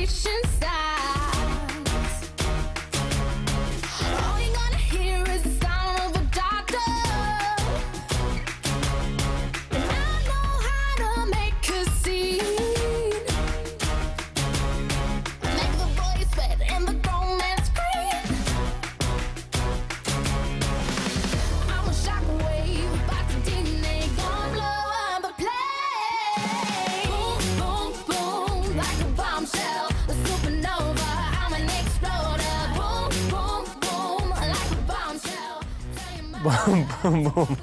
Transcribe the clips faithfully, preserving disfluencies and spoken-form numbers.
Conversation starts. All you're gonna hear is the sound of a doctor. And I know how to make a scene. Make the boys sweat and the grown men scream. I'm a shockwave, about to detonate, gonna blow up the place. Boom, boom, boom, like a bombshell, a supernova. I'm an exploder. Boom, boom, boom, like a bombshell. Tell your mom. Boom, boom, boom.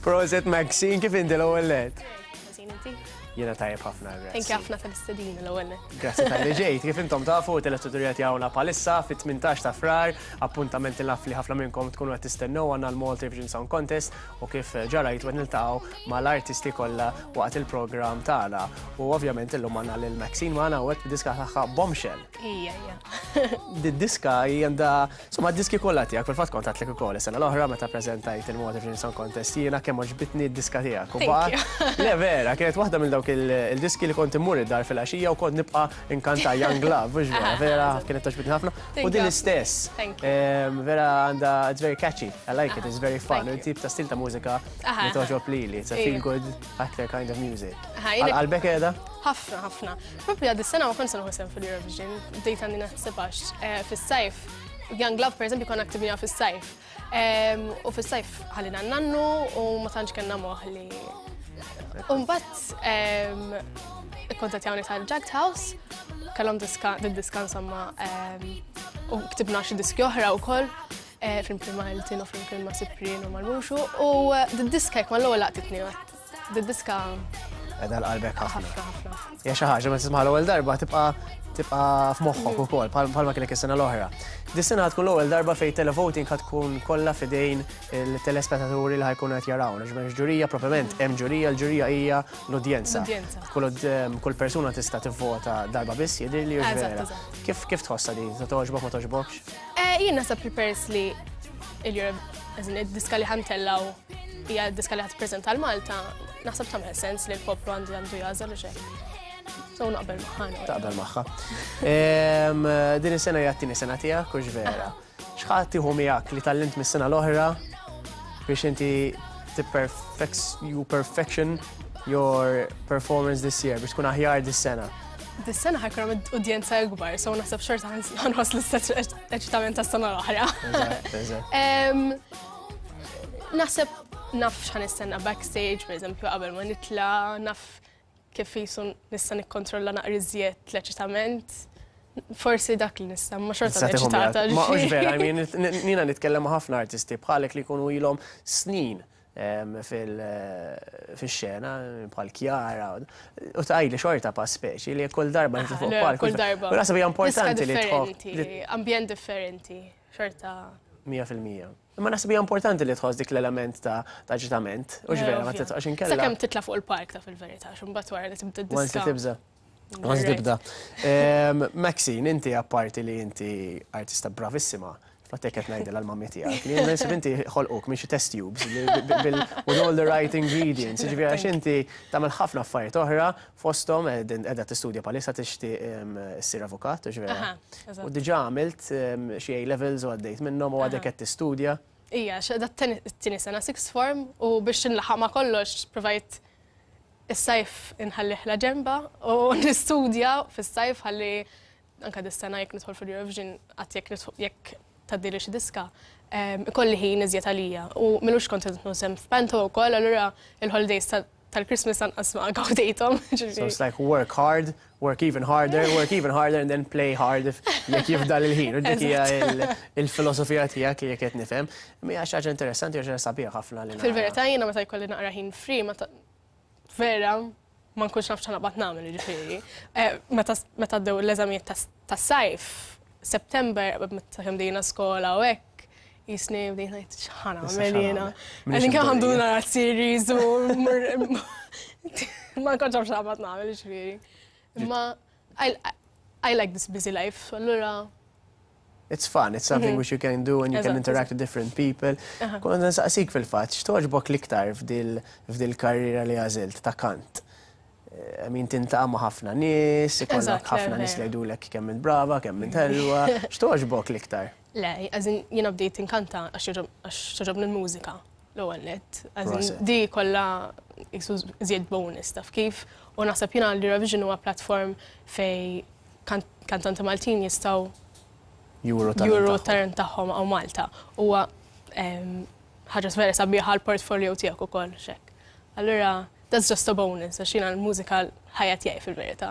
Prosit, Maxine, kif inti l-ewwel nett? Ħażin, inti? Jiena tajjeb ħafna, grazzi. Thank you ħafna tal-istedina l-ewwel nett. Grazzi talli ġejt. Kif intom tafu, telespettaturi jawna bħalissa fit-tmintax ta' Frar, appuntament naf li ħafna minnkom tkunu qed tistennew, għandna l-Malta Eurovision Song Contest u kif ġarajt qed niltaqgħu mal-artisti kollha waqt il-programm tagħna. U ovvjament illum għandna lil Maxine magħna u qed bid-diska tagħha Bombshell. Ija, ija. Di-diska għandha, insomma, d-diski kollha tiegħek, fil-fatt kont għedtlek ukoll is-sena l-oħra meta preżentajt il-Malta Eurovision Song Contest jiena kemm għoġbitni d-diska tiegħek. U Thank baqa- you. Le vera, kienet waħda minn dawk il- il-diski li kont immur id-dar fil-għaxija u kont nibqa' inkanta Young Love, mhux vera, vera kienet togħġobni ħafna. Thank U din you. l-istess. Thank you. Em, Vera għandha, it's very catchy, I like it, it's very fun. Thank you. U tip ta' stil ta' mużika Aha. li togħġob lili, it's a Ija. feel good actor kind of music. Aha, jiena- Għal-qalbek qiegħda? Ħafna, ħafna. Propju għad is-sena ma kontx se nieħu sehem fil-Eurovision, bdejt għandi naħseb għax eh, fis-sajf, Young Love per eżempju konna ktibnieha fis-sajf. Em, U fis-sajf ħallejna n-nannu u ma tantx kellna moħ li. U mbagħad ikkontattjawni tal-Jagged House, kellhom diska, diska insomma, em, u ktibna xi diski oħra wkoll eh, flimkien ma' Elton u flimkien ma' Cyprian u mal-Muxu u eh, d-diska jekk mal-ewwel laqtitni, d-diska Qiegħda għal-qalbek ħafna. ħafna ħafna. Hija xi ħaġa meta tisma' l-ewwel darba tibqa' tibqa' f'moħħok ukoll bħalma kienek is-sena l-oħra. Dis-sena tkun l-ewwel darba fejn televoting ħa tkun kollha f'idejn il-telespettaturi li ħa jkunu qed jarawna. Ġifieri ġurija proprjament, hemm ġurija, l-ġurija hija l-udjenza. L-udjenza. Kull kull persuna tista' tivvota darba biss, jidhirli, hux Eżatt, vera? Eżatt. Kif kif tħossha di? Togħġbok, ma togħġbokx? Eh, Jien naħseb li peress li il-Europe, id-diska li ħa ntellgħu hija d-diska li ħa tippreżenta l-Malta, naħseb tagħmel sens li l-poplu għandu għandu jagħżel u xek. So naqbel magħha. Taqbel magħha. Em, Din is-sena hija t-tieni sena tiegħek, hux vera? X'ħa tieħu miegħek li tgħallimt mis-sena l-oħra biex inti perfect you perfection your performance this year, biex tkun aħjar dis-sena? Dis-sena ħa jkun hemm udjenza ikbar, so naħseb xorta ħa nħoss l-istess eċitament tas-sena l-oħra. Eżatt, eżatt. Em, Naħseb naf x'ħa nistenna backstage, per eżempju, qabel ma nitla, naf kif jisu nista' nikkontrolla naqra iżjed l-eċitament. Forsi dak li nista', ma xorta Tista' tieħu eċitata. miegħek. Ma hux vera, I mean, jiena nitkellem ma' ħafna artisti bħalek li jkunu ilhom snin em, fil- fil-xena, bħal Chiara, u tgħidli xorta pa speċi li kull darba nitla fuq Le, palk. kull darba. U naħseb hija importanti Diska li tħobb. differenti, ambjent differenti, xorta. mija fil-mija. Imma naħseb hija importanti li tħoss dik l-element ta' ta' eċitament. U vera, ma titqax inkella. Sakemm titla fuq il-palk ta' fil-verità, x'imbagħad wara li tibda Once li d-diska. tibża. Once Right. tibda. Em, Maxine, inti apparti li inti artista bravissima, fatt qed ngħidilha l-mummy tiegħek, li naħseb inti ħolquk minn xi test tubes bil- with all the right ingredients. Ġifieri għax inti tagħmel ħafna affarijiet oħra, fosthom qiegħda tistudja bħalissa, tixtieq em, issir avukat, ġifieri. Aha, eżatt. U diġà għamilt em, xi A levels u għaddejt minnhom u għadek qed tistudja. Ija, da t-tieni sena sixth form u biex nlaħaq ma kollox provajt is-sajf inħallih la ġemba u nistudja fis-sajf ħalli anka dis-sena jekk nidħol fil-Eurovision għat jekk nidħol- jekk tgħaddili xi diska em, ikolli ħin iżjed għalija. U m'ilux kont qed sehem f'panto wkoll, allura il-holidays ta- tal-Christmas anqas ma gawdejthom. So it's like work hard, work even harder, work even harder and then play hard if jekk jifdal il-ħin. U dik hija il- il-filosofija tiegħek li jekk qed nifhem. Imma hija xi ħaġa interessanti u xi ħaġa sabiħa ħafna li nara. Fil-verità jiena meta jkolli naqra ħin free, meta vera ma nkunx naf x'naqbad nagħmel, jiġifieri. Eh, Meta meta għaddew l-eżamijiet tas- tas-sajf, September, meta kemm bdejna skola u hekk, jisni bdejna ngħid x'ħa nagħmel jiena. Minix Għalin kemm għandu imdorrija. nara series u mur- ma nkunx naf x'naqbad nagħmel, jiġifieri. Imma I, I like this busy life, allura It's fun, it's something which you can do and you can Eżatt, interact with different people. Kont nsaqsik fil-fatt, x'togħġbok l-iktar f'dil f'dil karriera li għażilt ta' kant? I mean, tiltaqa' ma' ħafna nies, ikollok Eżatt, le, ħafna nies li vera. jgħidulek kemm int brava, kemm int ħelwa. X'togħġbok l-iktar? Le, as in jiena bdejt inkanta għax jogħġob- għax togħġobni l-mużika l-ewwel nett. As in Proset. di kollha jisu żjed bonus, taf kif. U naħseb jiena l-Eurovision huwa platform fej kan- kantanti Maltin jistgħu Juru talent juru tagħhom. talent tagħhom hawn Malta. Huwa em, ħaġa vera sabiħa l-portfolio tiegħek ukoll xek. Allura, that's just a bonus, għax jiena l-mużika l-ħajja tiegħi fil-verità.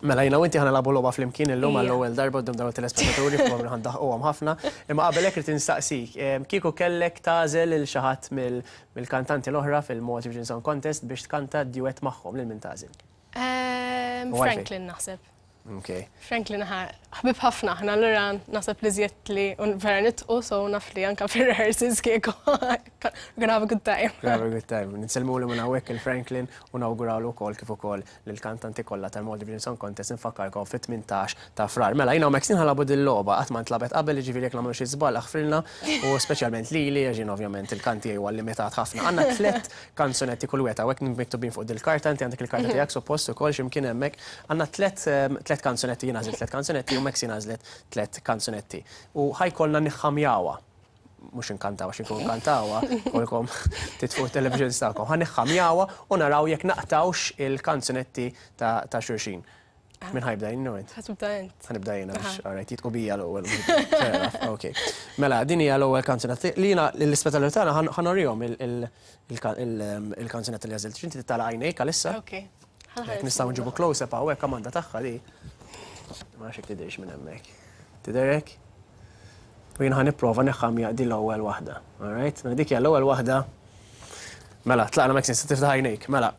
Mela jiena u inti ħa nilagħbu logħba flimkien illum Ija. għall-ewwel darba quddiem dawn it-telespettaturi, fuq ħa ndaħquhom ħafna. Imma qabel hekk irid instaqsik, em, kieku kellek tagħżel lil xi ħadd mill-kantanti l-oħra fil-Malta Eurovision Song Contest biex tkanta duet magħhom, lil min tagħżel? Em, U għalfejn? Franklin naħseb. Ok. Franklin ħa ħbib ħafna aħna, allura naħseb li żjed li un vera nitqu, so naf li anka fir-rehearsals kieku we're gonna have a good time. Have a good time. Nsellmulu minn hawnhekk il-Franklin u nawgurawlu wkoll kif ukoll lill-kantanti kollha tal-Malta Eurovision Song Contest, nfakkarkom fit-tmintax ta' Frar. Mela jiena u Maxine ħa nilagħbu dil-logħba, qatt ma ntlagħbet qabel, jiġifieri jekk nagħmlu xi żball aħfrilna, u speċjalment lili għax jien ovvjament il-kanti huwa limitat ħafna. Għandna tliet kanzunetti kull wieħed hawnhekk miktubin fuq dil-karta, inti għandek il-karta tiegħek suppost ukoll x'imkien hemmhekk. Għandna tliet em, tliet kanzunetti, jien għażilt tliet kanzunetti u Maxine għażlet tliet kanzunetti. U ħa jkollna niħħamjawha, mhux inkantaw, għax inkun kantawha, kolkom titfu television tagħkom. Ħa niħħamjawha u naraw jekk naqtawx il-kanzunetti ta' ta' xulxin. Min ħa jibda, jien int? Ħa tibda int. Ħa nibda jiena biex, alright, jitqu bija l-ewwel. Fair enough, ok. Mela, din hija l-ewwel kanzunetta. Li jiena l-ispettaturi tagħna ħa nurihom il-kanzunetta li għażilt. Inti tagħlaq għajnejk għalissa? Ok. Jekk nistgħu nġibu close-up hawnhekk, Amanda, tagħha di. Ma nafx jekk tidhirx minn hemmhekk. Tidherek? U jien ħa nipprova neħħamja di l-ewwel waħda. Alright? Mela dik hija l-ewwel waħda. Mela, tlaqna, Maxine, se tiftaħ għajnejk. Mela,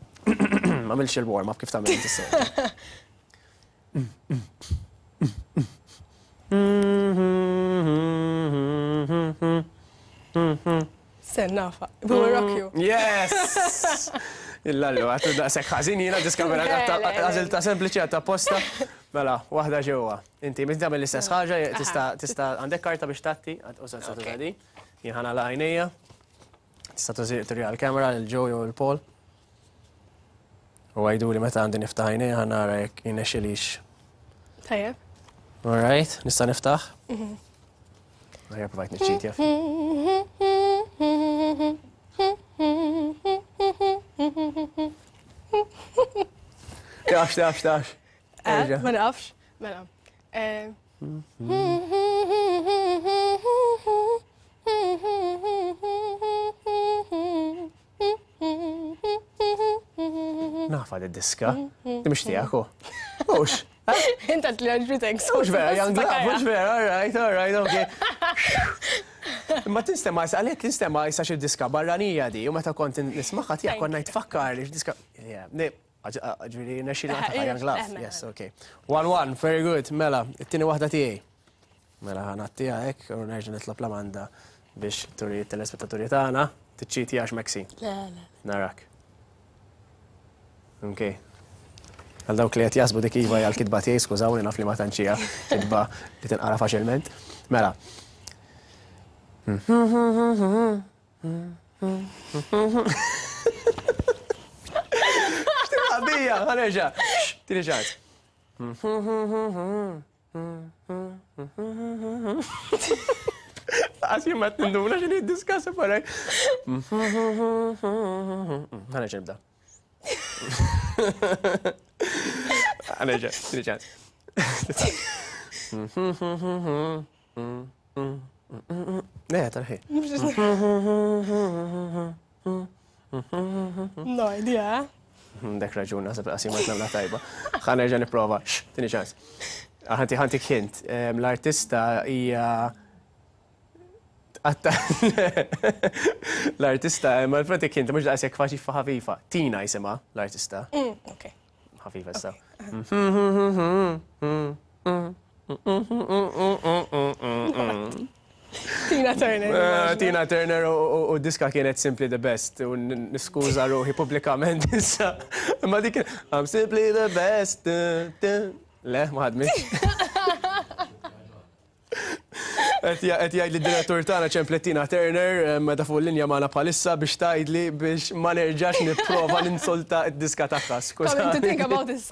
ma għamilx il-warm up kif tagħmel inti sew. Sen nafa. We will rock you. Yes! Illallu, għattu daqsek ħażin jiena diskamera Le, le, le. għażilta sempliċi għatta posta. Mela, waħda ġewwa. Inti minn tagħmel l-istess ħaġa, tista' tista' għandek karta biex tatti, uża tista' tuża di. Jien ħa nagħlaq għajnejja. Tista' tużi turi għall-kamera lil Joe jew il-Paul. U għajdu li meta għandi niftaħ għajnejja, ħa nara jekk jirnexxilix. Tajjeb. All right, nista' niftaħ? Għajja provajt niċċitja. Tafx, tafx, tafx. Eh, Erġa'. Ma nafx. Mela. Eh, Nafa di diska. Di mhux tiegħek hu. Mhux. Inta li għaġbitek. Mhux vera, Young Love, mhux vera, all right, all right, okay. Ma tinstema, għalhekk tinstema issa xi diska barranija di, u meta kont nismagħha tiegħek konna jtfakkar li x'diska. Yeah, ne, ġifieri nexxi li Eh, Young Love. eh, Yes, okay. One one, very good, mela, it-tieni waħda tiegħi. Mela ħa ngħattiha hekk u nerġa' nitlob l-Amanda biex turi t-telespettaturi tagħna, tiċċiti għax Maxi. Le, le. Narak. Ok. Għal dawk li qed jaħsbu dik iva hija l-kitba tiegħi, skużawni, naf li ma tantx hija kitba li tinqara faċilment. Mela. X'tilgħab bija, ħa nerġa'. Tieni ċans. Għas jien ma tinduna x'inhi d-diska separaj. Ħa nerġa' nibda. Ħa nerġa', tieni ċans. Le, tarħi. No idea. Dak raġun, naħseb qasima tnamla tajba. Ħa nerġa' nipprova. Tieni ċans. Ħanti ħantik hint. Em, L-artista hija Għatta. L-artista, ma l-pratik hint, mhux daqshekk faċli ħafifa. Tina jisimha l-artista. Mm, ok. Ħafifa issa. Tina Turner. Eh, Tina Turner u- u u diska kienet Simply the Best u n- niskuża ruħi pubblikament issa. Ma dik I'm simply the best. Le, ma ħadmitx. Qed jgħid li d-direttur tagħna ċemplet Tina Turner meta fuq linja magħna bħalissa biex tgħidli biex ma nerġax nipprova ninsulta d-diska tagħha. Coming to think about this,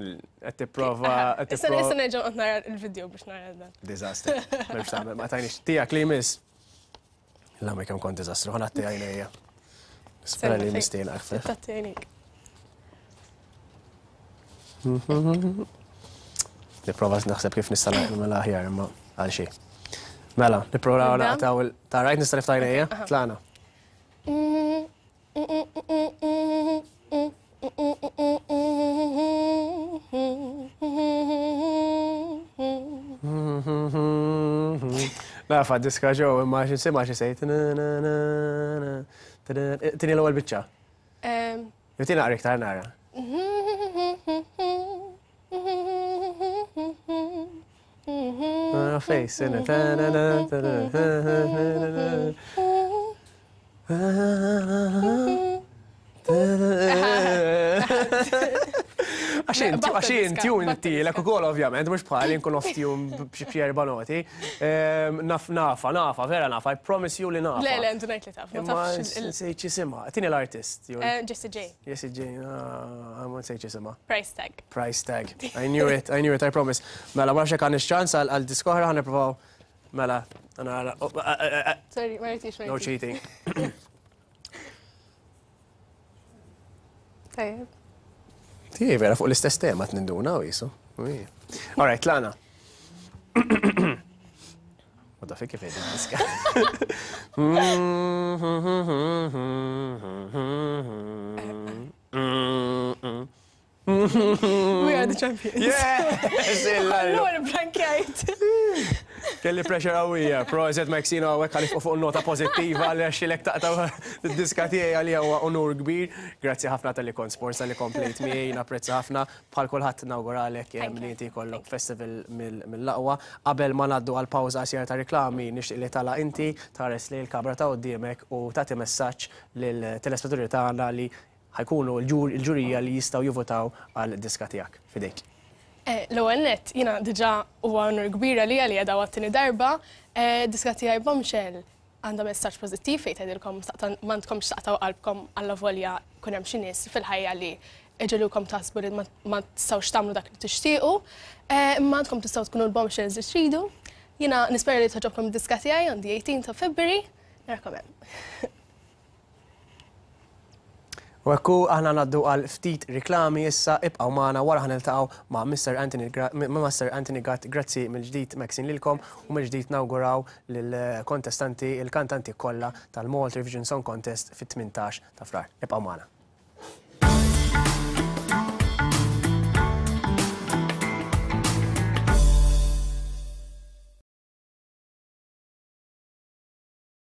Qed tipprova. Issa issa nerġa' nara il-video biex nara dan. Disaster. M'hemmx tagħmel, ma tajniex tiegħek li jmiss. La ma kemm kont diżastru, ħa ngħatti għajnejja. Nispera li mistina aktar. Tgħatti għajnejk. Nipprova naħseb kif nista' nagħmel aħjar imma għal xejn. Mela, nipprova naqtaw il tarajt nista' niftaħ għajnejja, tlaqna. Nafa diska ġew imma xi sima xi sejt. Tini l-ewwel biċċa. Jew tina naqra iktar nara. Face in it. Għax inti tune tielek ukoll ovvjament, mhux bħali nkun off tune b'xi erba' noti. Naf nafa, nafa, vera nafa, I promise you li nafa. Le, le, intu ngħid li taf. Ma tafx il- Nsejt x'isimha. Tini l-artist. Jessie J. Jessie J, ma nsejt x'isimha. Price tag. Price tag. I knew it, I knew it, I promise. Mela, ma nafx jekk għandix ċans għal diska oħra, ħa nippruvaw. Mela, nara. Sorry, ma rridix, ma No cheating. Tajjeb. Tiegħi vera fuq l-istess tema tninduna u jisu. All right, tlaqna. U da kif qegħdin diska. We are the champions. Yes! Allura blankjajt. Kelli pressure qawwija. Proset Maxine hawnhekk għalif fuq nota pożittiva li għaxilek taqta' d-diska tiegħi għalija huwa onur kbir. Grazzi ħafna talli kont sponsor li komplejt miegħi, napprezza ħafna. Bħal kulħadd nawguralek li inti jkollok festival mill-aqwa. Qabel ma ngħaddu għal pawża qasira ta' riklami, nixtieq li tala inti tħares li l-kamra ta' quddiemek u tagħti messaġġ lill-telespettaturi tagħna li ħa jkunu l-ġurija li jistgħu jivvotaw għal diska tiegħek. Fidejk. L-ewwel nett, jiena diġà huwa onur kbir għalija li qiegħda għat-tieni darba. Diska tiegħi Bombshell għandha messaġġ pożittiv fejn tgħidilkom m'għandkomx taqtgħu qalbkom allavolja jkun hemm xi nies fil-ħajja li iġegħlukom taħsbu li ma tistgħux tagħmlu dak li tixtiequ. Imma għandkom tistgħu tkunu l-bombshells li tridu. Jiena nispera li togħġobkom id-diska tiegħi on the eighteenth of February. Narakom hemm. U ekku aħna ngħaddu għal ftit riklami issa, ibqgħu magħna wara ħa niltaqgħu ma' Mister Anthony Mister Anthony Gatt. Grazzi mill-ġdid Maxine lilkom u mill-ġdid nawguraw lill-kontestanti, il-kantanti kollha tal-Malta Eurovision Song Contest fit-tmintax ta' Frar. Ibqgħu magħna.